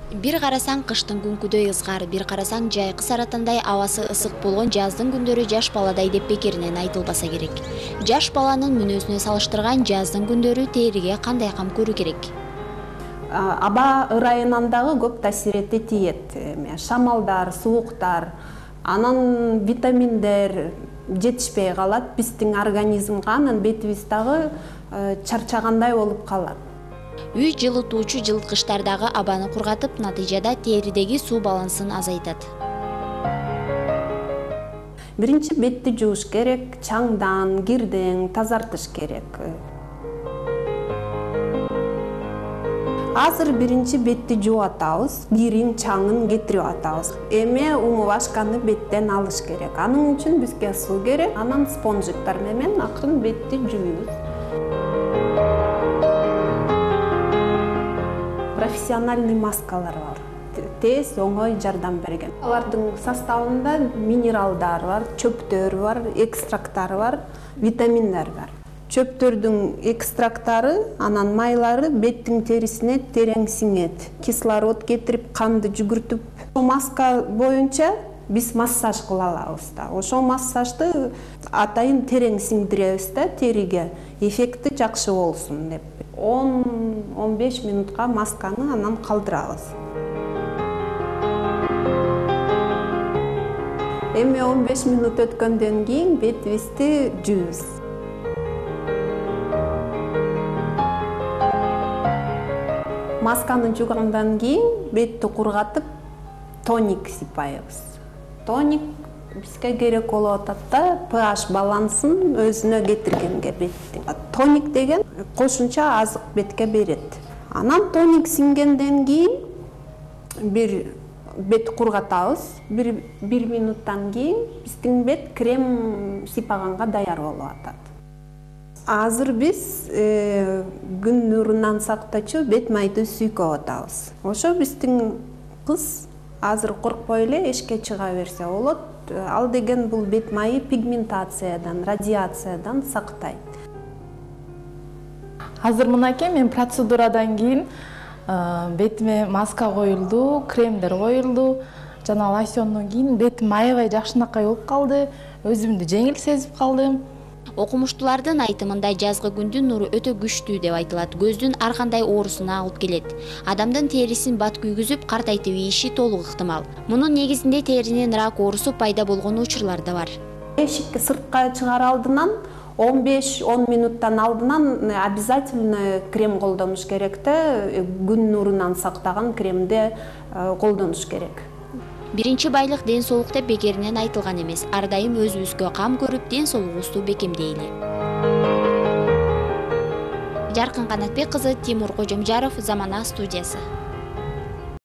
Бир карасаң кыштын күнкүдөй ызгар, бир карасаң жайкы саратандай абасы ысык болгон жаздын күндөрү жаш баладай деп бекеринен айтылбаса керек. Жаш баланын мүнөзүнө салыштырган жаздын күндөрү териге кандай кам көрүү керек? Аба ырайынан дагы көп таасирети тиет. Шамалдар, сууктар, анан витаминдер жетишпей калат биздин организмге, анан бетибиз дагы чарчагандай болуп калат. Үй жылытуучу жылыткычтардагы абаны кургатып, натыйжада теридеги суу балансын азайтат. Биринчи бетти жууш керек, чаңдан, кирден тазартыш керек. Азыр биринчи бетти жууп атабыз, кирин, чаңын кетирип атабыз. Эми умывашканы беттен алыш керек. Анын үчүн бизге суу керек, анан спонжиктар менен акырын бетти жууйбуз. Профессиональный маскалар бар. Тез, оңой жардам берген. Алардын составында минералдар бар, чөптөр бар, экстракттар бар, витаминдер бар. Чөптөрдүн экстракттары, анан майлары беттин терисине терең сиңет. Кислород кетирип, канды жүгүртүп, маска боюнча биз массаж кыла алабыз да. Ошол массажды атайын терең сиңдиребиз да териге. Эффекти жакшы болсун деп. 10-15 минутка масканы анан калтырабыз. Эми 15 минут өткөндөн кийин бетибизди жуубуз. Масканы жуугандан кийин бетти кургатып, тоник сыйпайбыз. Тоник бизге керек болуп атат да, pH балансын өзүнө кетиргенге беттин. Тоник деген кошумча азык бетке берет. Анан тоник сиңгенден кийин бир бет кургатабыз. Бир минуттан кийин биздин бет крем сыйпаганга даяр болуп атат. Азыр биз күн нурунан сактоочу бет майды сүйкөп атабыз. Ошо биздин кыз азыр коркпой эле эшикке чыга берсе болот. Ал деген бул бет майы пигментациядан, радиациядан сактайт. Азыр мынакей мен процедурадан кийин бетиме маска коюлду, кремдер коюлду, жана лосьондон кийин бетим аябай жакшынакай болуп калды, өзүмдү жеңил сезип калдым. Окумуштуулардын айтымында жазгы күндүн нуру өтө күчтүү деп айтылат. Көздүн ар кандай оорусуна алып келет. Адамдын терисин бат күйгүзүп, картайтып ийиши толук ыктымал. Мунун негизинде теринин рак оорусу пайда болгон учурлар да бар. Эшикке сыртка чыгаар алдынан 15-10 минуттан алдынан обязательно крем колдонуш керек да, күн нурунан сактаган кремди колдонуш керек. Биринчи байлык ден соолук деп бекеринен айтылган эмес. Ар дайым өзүбүзгө кам көрүп, ден соолугубузду бекемдейли. Жаркын Канатбек кызы, Тимур Кожомжаров, Замана студиясы.